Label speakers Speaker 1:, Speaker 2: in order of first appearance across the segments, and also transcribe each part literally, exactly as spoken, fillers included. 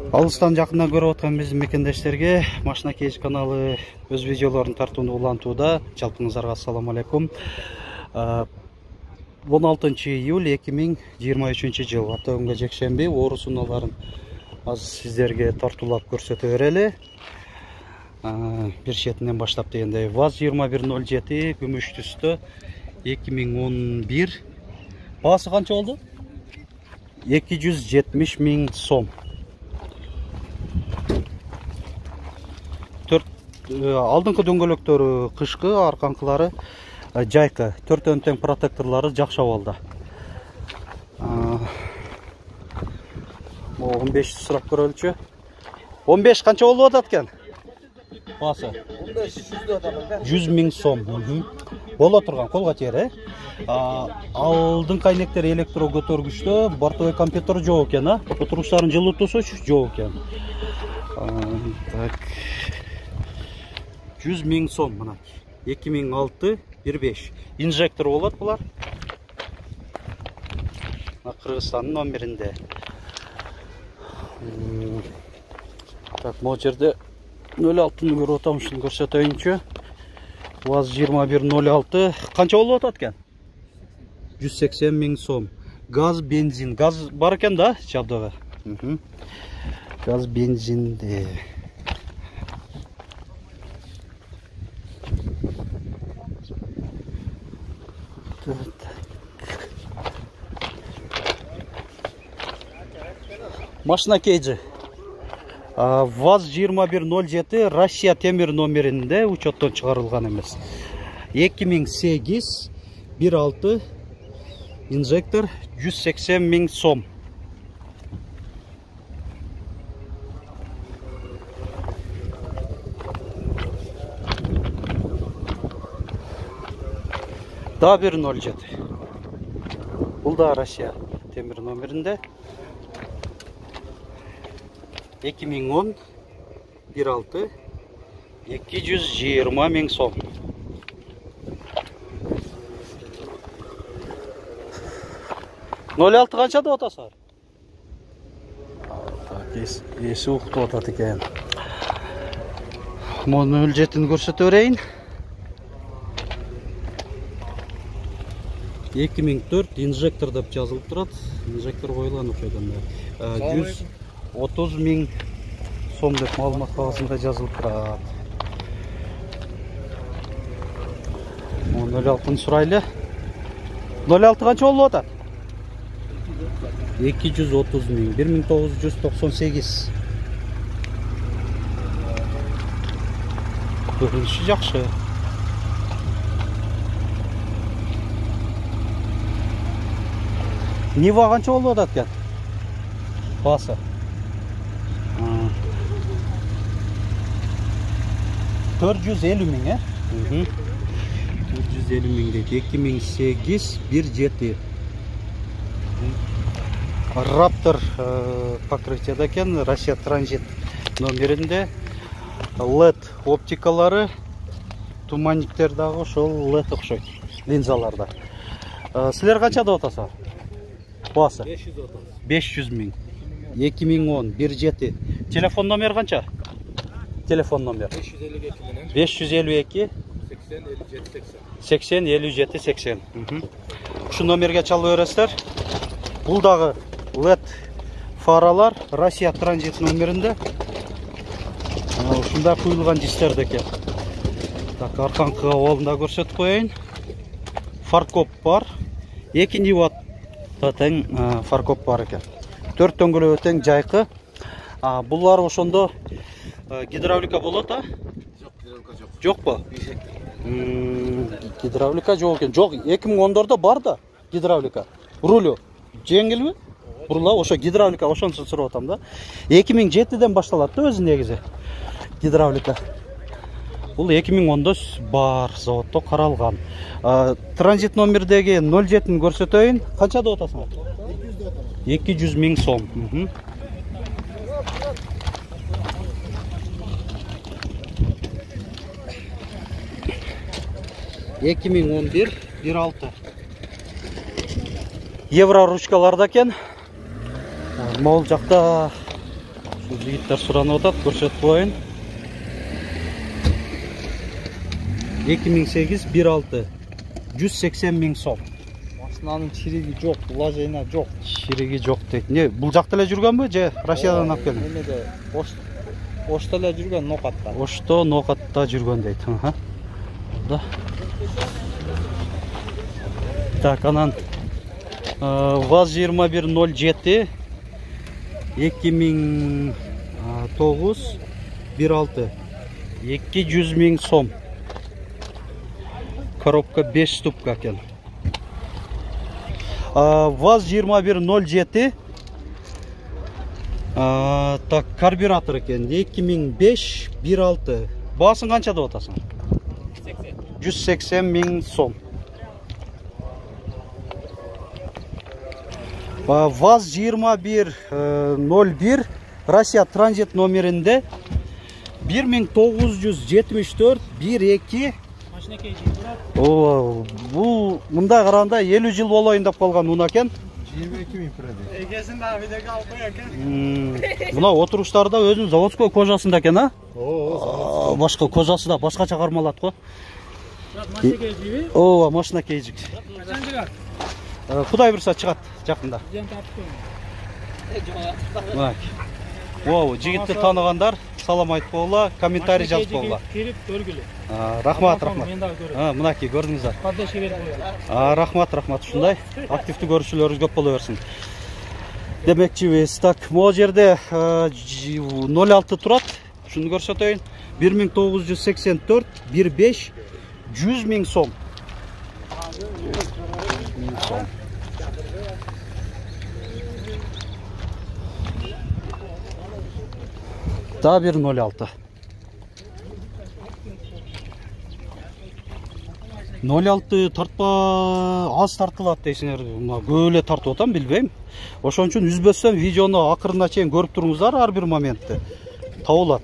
Speaker 1: Алыстан жакындан көрүп аткан биздин мекендештерге Машина Кейж каналы өз видеолорун тартууну улантууда. Жалпыңыздарга ассаламу алейкум. он алтынчы июль эки миң жыйырма үчүнчү жыл ата күнгө жекшемби орус унааларын азыр сиздерге тартуулап көрсөтө берели. Бир четинен баштап дегендей ВАЗ жыйырма бир ноль жети күмүш түстө эки миң он бир. Баасы канча болду? эки жүз жетимиш миң сом. Алдыңкы дөңгөлөктөрү кышкы, арканкылары жайкы, төртөн тең протекторлору жакшы абалда. он беш сурап көрөлүчү. он беш канча болуп атат экен? Баасы
Speaker 2: он беш
Speaker 1: жүз миң сом. Боло турган, колго тиер, э? Алдыңкы айнектер электро көтөргүчтө, бортовой компьютер жок экен, а? Отургучтарын жылытуусучу жок экен. Так. жүз миң сом мына. эки миң алты бир беш. Инжектор болот булар. Кыргызстандын номеринде. Так, могу жерде ноль алтыны көрүп атам, ушуну көрсөтөйүнчү. ВАЗ жыйырма бир ноль алты. Канча болуп атат экен? жүз сексен миң сом. Газ, бензин. Газ бар экен да, жабдыгы. Газ, бензинде. Машина Кейджи. ВАЗ жыйырма бир ноль жети Россия темир номеринде учеттон чыгарылган эмес. эки миң сегиз бир алты инжектор жүз сексен миң сом. Да бир ноль жети. Бул да Россия темир номеринде. эки миң он бир алты эки жүз жыйырма миң сом. ноль алты канча деп атасыздар? Так, эси уктуп атат экен. Муну ноль жетини көрсөтө берейин. эки миң төрт инжектор деп жазылып турат. Инжектор коюлган окшойт анда. жүз отуз миң сом деп маалымат кагазында жазылып турат. ноль алтыны сурайлы. ноль алты канча болуп атат? эки жүз отуз миң. бир миң тогуз жүз токсон сегиз. Көрүнүшү жакшы. Нива канча болуп атат экен? Баасы төрт жүз элүү миң, э? төрт жүз элүү миң дейт. эки миң сегиз бир жети. Раптор покрытияда экен, Россия транзит номеринде. лед оптикалары, туманниктер дагы ошол лед окшойт, линзаларда. Силер канча деп атасыздар? Баасы беш жүз миң. эки миң он бир жети. Телефон номер канча? Телефон номер беш жүз элүү эки сексен элүү жети сексен. Ушу номерге чалып бересиздер. Бул дагы лед фаралар Россия транзит номеринде. Ушундай куюлган дистерде экен. Так, арканкы абалында көрсөтүп коеюн. Фаркоп бар. эки ниватта тең фаркоп бар экен. төрт дөңгөлөгү тең жайкы. Булар ошондо гидравлика болот, а?
Speaker 2: Жок, гидравлика жок.
Speaker 1: Жокпу? Гидравлика жок экен. Жок, эки миң ондордо бар да гидравлика. Рулю жеңилби? Бурула ошо гидравлика, ошонусун сурап атам да. эки миң жетиден башталат да өзү негизи гидравлика. Бул эки миң ондо бар, заводдо каралган. Транзит номердеги ноль жетини көрсөтөйүн. Канча деп атасыңар? эки жүз миң сом. эки миң он бир бир алты. евро ручкаларда экен. Могул жакта Бул жигиттер суранып атат, көрсөтүп коеюн. эки миң сегиз бир алты жүз сексен миң сом.
Speaker 2: Машинанын чириги жок, вложения жок.
Speaker 1: Чириги жок дейт. Не, бул жакта эле жүргөнбү же Россиядан алып келген?
Speaker 2: Эмеде Ошто эле жүргөн, Нокатта.
Speaker 1: Ошто, Нокатта жүргөн дейт. Аха. Да. Так, анан ВАЗ жыйырма бир ноль жети эки миң тогуз бир алты эки жүз миң сом. Коробка беш ступка экен. ВАЗ жыйырма бир ноль жети так, карбюратор экен. эки миң беш бир алты. Баасын канча деп атасың? жүз сексен миң сом. ВАЗ жыйырма бир ноль бир Россия транзит номеринде бир миң тогуз жүз жетимиш төрт бир эки. О, бул мындай караганда элүү жыл болоюн деп калган унаа экен.
Speaker 2: жыйырма эки миң турат. Эгесин дагы видеого алып коёк экен.
Speaker 1: Мына отуруштары да өзүнүн заводской кожасында экен, а?
Speaker 2: Ооба.
Speaker 1: Башка кожасы да башкача кармалат го.
Speaker 2: Машина кейжиби?
Speaker 1: Ооба, машина кейжик.
Speaker 2: Качан чыгат?
Speaker 1: Кудай буйрса чыгат жакында. Бак. О, жигитти тааныгандар салам айтып койгула, комментарий жазып койгула.
Speaker 2: Кирип көргүлө.
Speaker 1: Рахмат, рахмат.
Speaker 2: Мен дагы көрөм.
Speaker 1: Мынакей көрдүңүздөр.
Speaker 2: Кадешке берип коём.
Speaker 1: Рахмат, рахмат. Ушундай активдүү көрүүчүлөрүңүз көп боло берсин. Демекчибиз, так, могу жерде ноль алты турат. Шуну көрсөтөйүн. бир миң тогуз жүз сексен төрт бир беш жүз миң сом. Да бир ноль алты. ноль алты тартпа аз тартылат дейсиңер. Көп эле тартып атам, билбейм. Ошон үчүн үзбөстөн видеону акырына чейин көрүп туруңуздар, ар бир моментти. Табылат.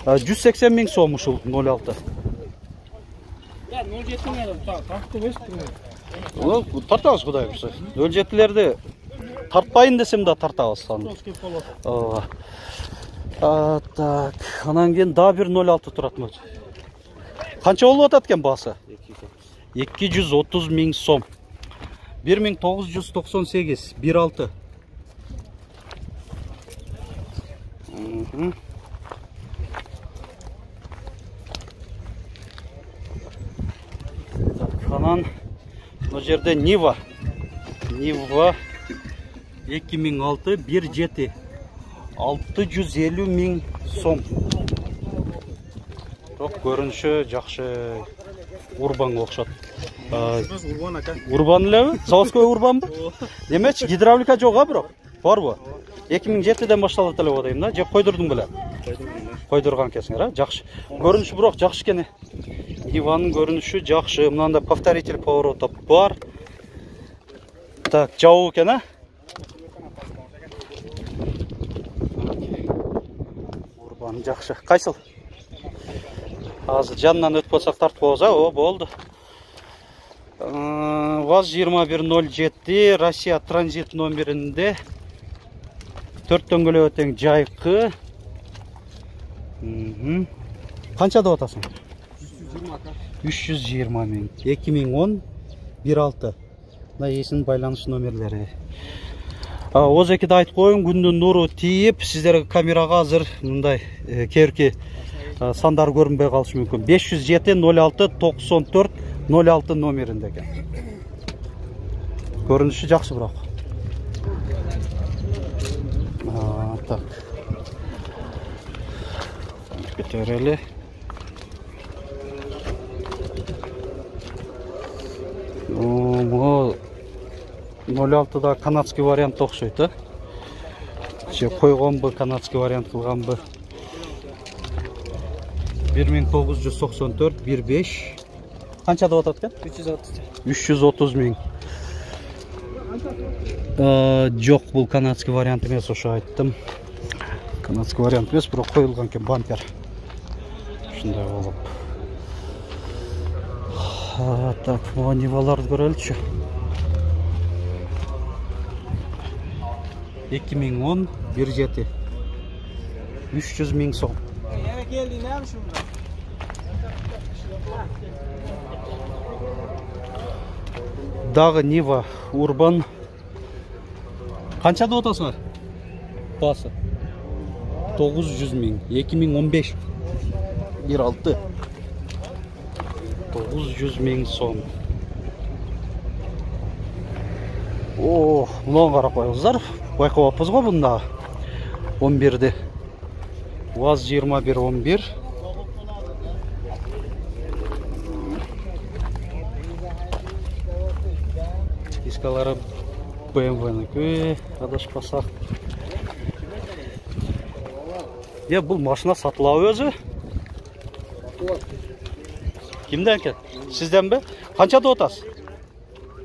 Speaker 1: жүз сексен миң сом ушул ноль алты.
Speaker 2: Я ноль жети тартып өстүм.
Speaker 1: Ол тартабыз Кудай буйрса. ноль жетилерди тартпайын десем да тартабыз аны. Ооба. А, так, анан кийин да бир ноль алты турат мына. Канча болуп атат экен баасы? эки жүз отуз миң сом. бир миң тогуз жүз токсон сегиз бир алты. Так, анан мына жерде Нива. Нива эки миң алты бир жети. алты жүз элүү миң сом. Бирок көрүнүшү жакшы, урбанга окшот.
Speaker 2: Урбан ака.
Speaker 1: Урбан элеби? Заводской урбанбы? Демечи гидравлика жок а бирок. Барбы? эки миң жетиден башталат эле го дейм да. Же койдурдуң беле? Койдурган экенсиңер, а? Жакшы. Көрүнүшү бирок жакшы экен. Ниванын көрүнүшү жакшы. Мынанда повторитель поворота бар. Так, жабуу экен, а? Урбан жакшы. Кайсыл? Азыр жанынан өтүп атсак тартып коебуз, а? О, болду. ВАЗ жыйырма бир ноль жети Россия транзит номеринде төрт дөңгөлөккө тең жайкы. Канча деп атасың? үч жүз жыйырма миң. эки миң он бир алты. Мына эсинин байланыш номерлери. Озекиде айтып коеюн, күндүн нуру тийип, сиздерге камерага азыр мындай кээрки сандар көрүнбөй калышы мүмкүн. беш жүз жети ноль алты токсон төрт ноль алты номеринде экен. Көрүнүшү жакшы бирок. Так. Көтөрөлү. О, ноль алтыда канадский вариант окшойт, а? Же койгонбу, канадский вариант кылганбы? бир миң тогуз жүз токсон төрт бир беш. Канча деп атат экен?
Speaker 2: үч жүз отуз.
Speaker 1: үч жүз отуз миң. Жок, бул канадский вариант эмес, ошо айттым. Канадский вариант эмес, бирок коюлган экен бампер. Ушундай болуп. Так, могу Ниваларды көрөлүчү. эки миң он бир жети. үч жүз миң сом.
Speaker 2: Yana kelding ham shunda.
Speaker 1: Дагы Нива Урбан. Канчада отасыңар? Басы. тогуз жүз миң. эки миң он беш. бир алты. тогуз жүз миң сом. О, мынаны карап коюңуздар. Байкабаппыз го бунда. он бирди. УАЗ жыйырма бир он бир. Дискалары бэ эм вэ-ники, адашпасак. Е, бул машина сатылабы өзү? Кимден экен? Сизденби? Канчада отасыз?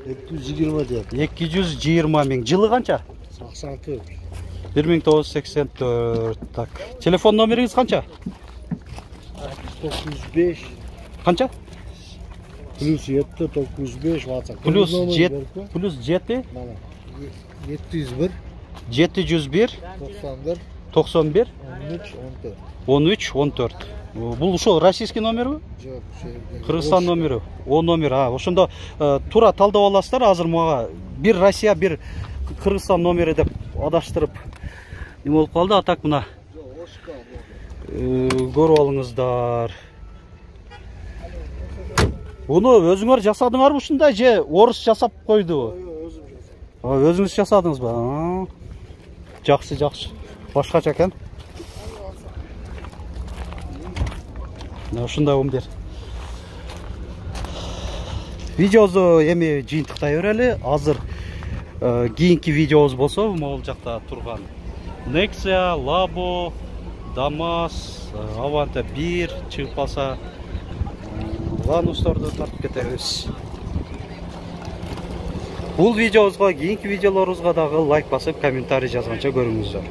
Speaker 2: эки жүз жыйырма деп.
Speaker 1: эки жүз жыйырма миң. Жылы канча?
Speaker 2: сексен төрт.
Speaker 1: бир миң тогуз жүз сексен төрт. Так. Телефон номериңиз канча?
Speaker 2: токуз жүз беш.
Speaker 1: Канча?
Speaker 2: Плюс жети токуз жүз беш WhatsApp.
Speaker 1: Плюс жети. Плюс жети.
Speaker 2: Mana жети жүз бир.
Speaker 1: жети жүз бир.
Speaker 2: токсон бир.
Speaker 1: токсон бир.
Speaker 2: он үч он төрт.
Speaker 1: он үч он төрт. Бул ушул российский номерби?
Speaker 2: Жок,
Speaker 1: Кыргызстан номери. О номер. А, ошондо тура талдап аласыздар. Азыр мага бир Россия, бир Кыргызстан номери деп адаштырып эме болуп калды. А так мына көрүп алыңыздар. Уну өзүңөр жасадыңарбы ушундай же орус жасап койду? Өзүңүз жасадыңызбы? Жакшы, жакшы. Башкача экен. Ушундай он бир. Видеобузду эми жыйынтыктай берели. Азыр кийинки видеобуз болсо, могул жакта турган Nexia, Labo, Damas, Avante бир чыгып калса, Lanus'торду тартып кетебиз. Бул видеобузга, кийинки видеолорубузга дагы лайк басып, комментарий жазганча көрүңүздөр.